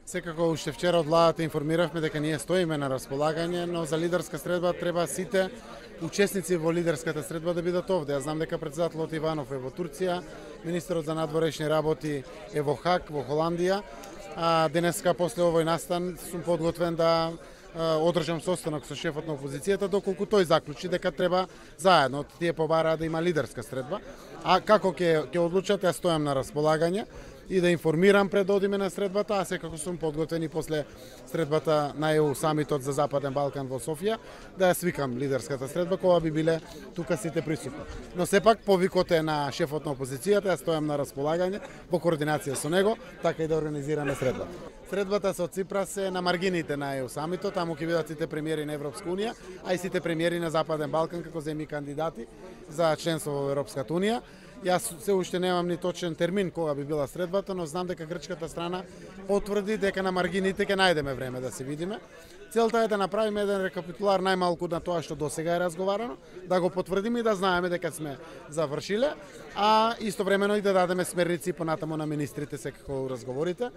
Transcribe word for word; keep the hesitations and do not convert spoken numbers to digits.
Секако уште вчера од владата информиравме дека ние стоиме на располагање, но за лидерска средба треба сите учесници во лидерската средба да бидат овде. Ја знам дека претседателот Иванов е во Турција, министерот за надворешни работи е во Хаг, во Холандија. А денеска после овој настан сум подготвен да одржам состанок со шефот на опозицијата, доколку тој заклучи дека треба заедно, тие побараа да има лидерска средба. А како ќе ќе одлучат, ја стојам на располагање и да информирам пред да одиме на средбата, а секако сум подготвен и после средбата на Е У самитот за Западен Балкан во Софија, да ја свикам лидерската средба, кога би биле тука сите присутни. Но сепак повикот е на шефот на опозицијата, ја стојам на располагање во координација со него, така и да организираме средбата. Средбата со Ципрас е на маргините на Е У самитот, таму ќе бидат сите премиери на Европска унија, а и сите премиери на Западен Балкан како земји кандидати за членство во Европската унија. Јас се уште немам ни точен термин кога би била средбата, но знам дека грчката страна потврди дека на маргините ќе најдеме време да се видиме. Целта е да направиме еден рекапитулар најмалку на тоа што досега е разговарано, да го потврдиме и да знаеме дека сме завршиле, а истовремено и да дадеме смерници понатаму на министрите секако разговорите.